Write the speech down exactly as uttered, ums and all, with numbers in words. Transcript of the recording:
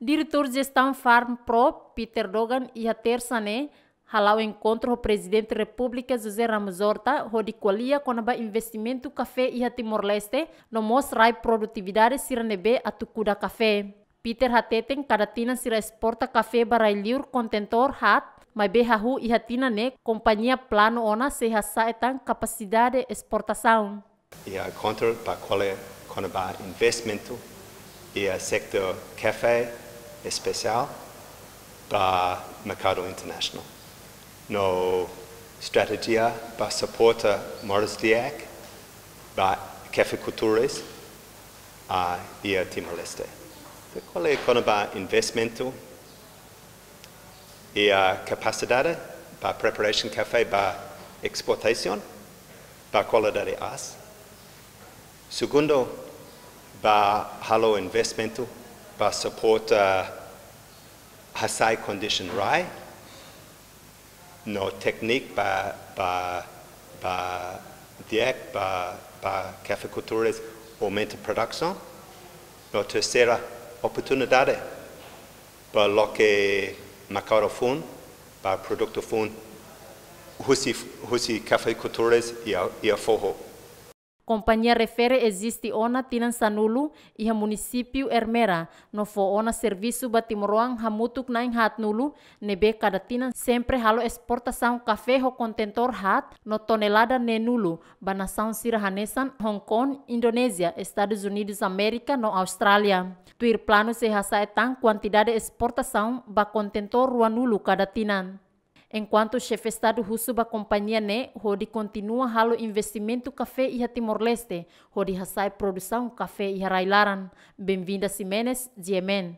Diretór Jestaun Farm Pro, Peter Dogan, iha Tersa ne'e hala'o enkontru ho Prezidente Repúblika José Ramos Horta hodi ko'alia kona-ba investimentu kafé iha Timor-Leste, no mós rai produtividade sira ne'ebé atu kuda kafé. Peter hateten kada tinan sira esporta kafé ba rai-li'ur kontentór haat, maibé hahú iha tinan ne'e kompañia planu ona sei hasa'e tan kapasidade esportasaun. Iha enkontru ba ko'alia kona-ba investimentu iha setór kafé, espesiál ba merkadu internasionál. No estratéjia ba suporta moris di'ak ba kafeikultores iha Timor-Leste. Ko'alia kona-ba investimentu iha kapasidade ba preparasaun kafé ba esportasaun, ba kualidade aas. Segundu, ba halo investimentu ba suporta hasa'e kondisão rai, no téknika ba, ba, ba di'ak ba, ba kafeikultores aumenta produsaun. No terseira, oportunidade ba loke merkadu foun, ba produtu foun husi, husi kafeikultores iha, iha foho. Kompañia refere eziste ona tinan sanulu iha munisípiu Ermera, no fó ona servisu ba timoroan hamutuk na'in haatnulu, ne'ebé kada tinan sempre halo esportasaun kafé ho kontentór haat no tonelada neenulu ba nasaun sira hanesan Hong Kong, Indonézia, Estadus Unidus Amérika no Austrália. Tuir planu sei hasa'e tan kuantidade esportasaun ba kontentór ruanulu kada tinan. Enkuantu Xefe Estadu husu ba kompañia ne'e hodi kontinua halo investimentu kafé iha Timor-Leste, hodi hasa'e produsaun kafé iha rai-laran. Benvinda Ximenes, G M N.